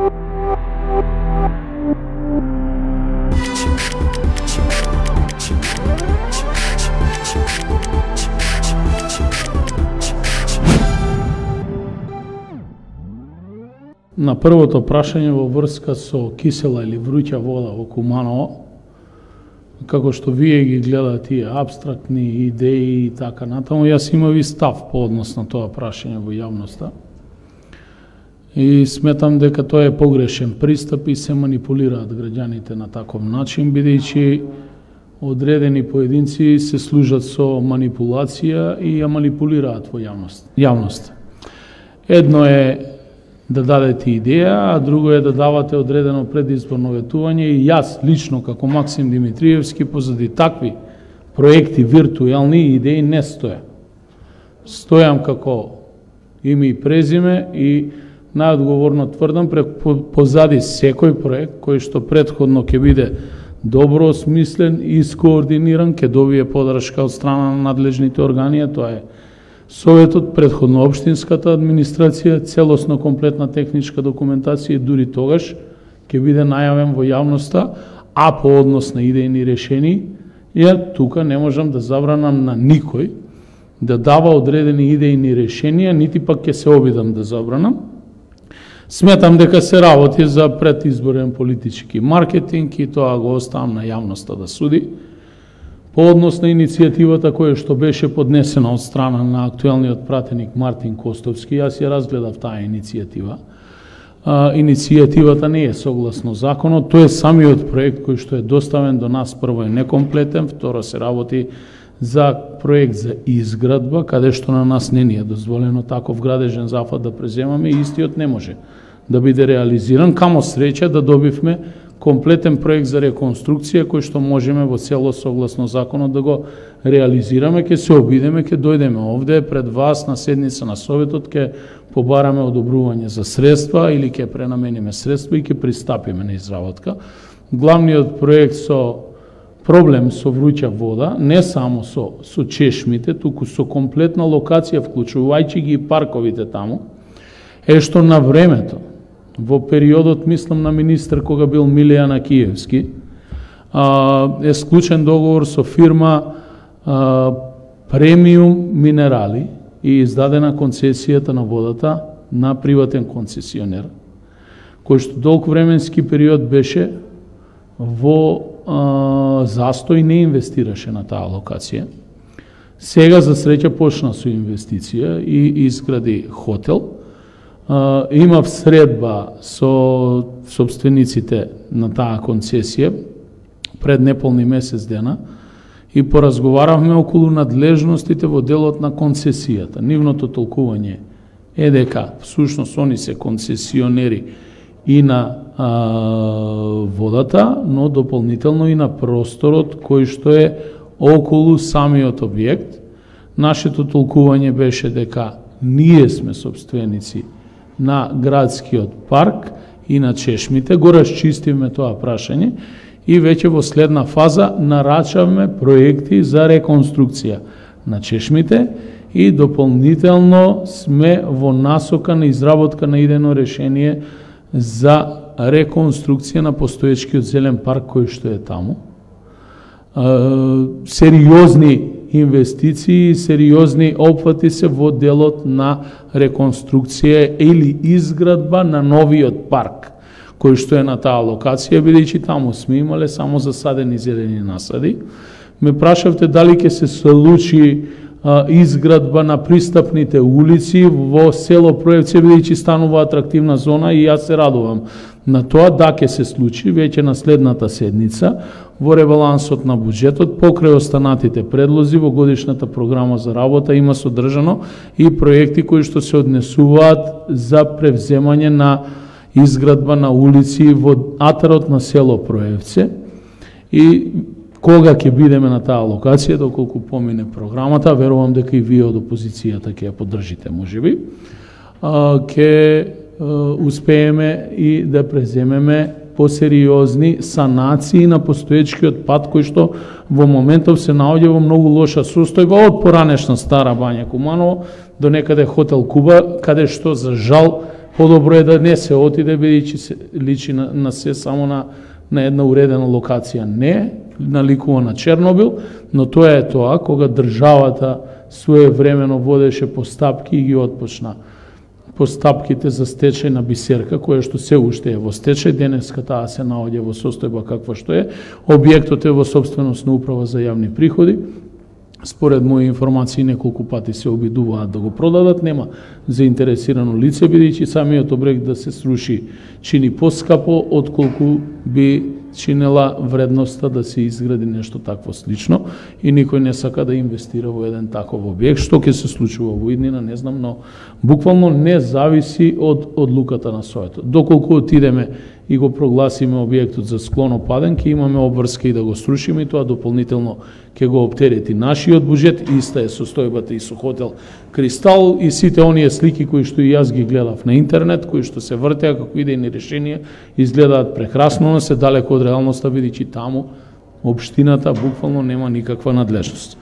На првото прашање во врска со кисела или вруќа вода во Куманово, како што вие ги гледате тие апстрактни идеи и така натаму, јас имав и став по однос на тоа прашање во јавноста. И сметам дека тоа е погрешен пристап и се манипулираат граѓаните на таков начин, бидејќи одредени поединци се служат со манипулација и ја манипулираат во јавност. Едно е да дадете идеја, а друго е да давате одредено предизборно ветување и јас лично како Максим Димитриевски позади такви проекти виртуелни идеи не стојам. Стојам како име и презиме и најодговорно тврдам позади секој проект кој што претходно ќе биде добро осмислен и скоординиран, ќе добие подршка од страна на надлежните органи, тоа е Советот, претходно општинската администрација, целосно комплетна техничка документација и дури тогаш ќе биде најавен во јавноста, а по однос на идејни решени, ја тука не можам да забранам на никој да дава одредени идејни решенија, нити пак ќе се обидам да забранам. Сметам дека се работи за предизборен политички маркетинг и тоа го оставам на јавноста да суди. По однос на иницијативата која што беше поднесена од страна на актуелниот пратеник Мартин Костовски, јас ја разгледав таа иницијатива. Иницијативата не е согласно законот, тој е самиот проект кој што е доставен до нас, прво е некомплетен, второ се работи за проект за изградба, каде што на нас не ни е дозволено таков градежен зафат да преземаме и истиот не може да биде реализиран. Камо среќа да добивме комплетен проект за реконструкција кој што можеме во целост согласно законот да го реализираме, ќе се обидеме, ќе дојдеме овде пред вас на седница на Советот, ќе побараме одобрување за средства или ќе пренамениме средства и ќе пристапиме на изработка. Главниот проект со проблем со вруќа вода, не само со чешмите, туку со комплетна локација, вклучувајќи ги и парковите таму, е што на времето, во периодот, мислам на министр кога бил Милијан Акиевски, е склучен договор со фирма Премиум Минерали и издадена концесијата на водата на приватен концесионер, кој што долг временски период беше во застој, не инвестираше на таа локација. Сега, за среќа, почна со инвестиција и изгради хотел. Имав средба со собствениците на таа концесија пред неполни месец дена и поразговаравме околу надлежностите во делот на концесијата. Нивното толкување е дека всушност они се концесионери и на водата, но дополнително и на просторот кој што е околу самиот објект. Нашето толкување беше дека ние сме собственици на градскиот парк и на чешмите, го расчистивме тоа прашање и веќе во следна фаза нарачавме проекти за реконструкција на чешмите и дополнително сме во насока на изработка на идејно решение за реконструкција на постоечкиот зелен парк кој што е таму. Сериозни инвестиции, сериозни опфати се во делот на реконструкција или изградба на новиот парк, кој што е на таа локација, бидејќи таму сме имале само засадени зелени насади. Ме прашавте дали ќе се случи изградба на пристапните улици во село Проевце, бидејќи станува атрактивна зона и јас се радувам на тоа, да ќе се случи веќе на следната седница во ребалансот на буџетот, покрај останатите предлози во годишната програма за работа има содржано и проекти кои што се однесуваат за превземање на изградба на улици во атарот на село Проевце и кога ќе бидеме на таа локација, доколку помине програмата, верувам дека и вие од опозицијата ќе ја поддржите, можеби, ќе успееме и да преземеме посериозни санации на постоечкиот пат кој што во моментов се наоѓа во многу лоша состојба од поранешна Стара Бања Куманово до некаде хотел Куба, каде што за жал подобро е да не се отиде, бидејќи се личи на се само на една уредена локација. Не, наликува на Чернобил, но тоа е тоа, кога државата своевремено водеше постапки и ги отпочна постапките за стечај на Бисерка, која што се уште е во стечај, денеска таа се наоѓа во состојба каква што е, објектот е во собственост на Управа за јавни приходи. Според мои информации неколку пати се обидуваат да го продадат, нема заинтересирано лице, бидејќи самиот објект да се сруши чини поскапо отколку би чинела вредноста да се изгради нешто такво слично и никој не сака да инвестира во еден таков објект. Што ќе се случува во иднина, не знам, но буквално не зависи од одлуката на СОЕ-то. Доколку отидеме и го прогласиме објектот за склонопаден, ќе имаме обврска и да го срушиме и тоа дополнително ќе го оптерети нашиот буџет. Иста е состојбата и со хотел Кристал и сите оние слики кои што и јас ги гледав на интернет, кои што се вртеа како идејни решенија, изгледаат прекрасно, но се далеко од реалноста, бидејќи таму општината буквално нема никаква надлежност.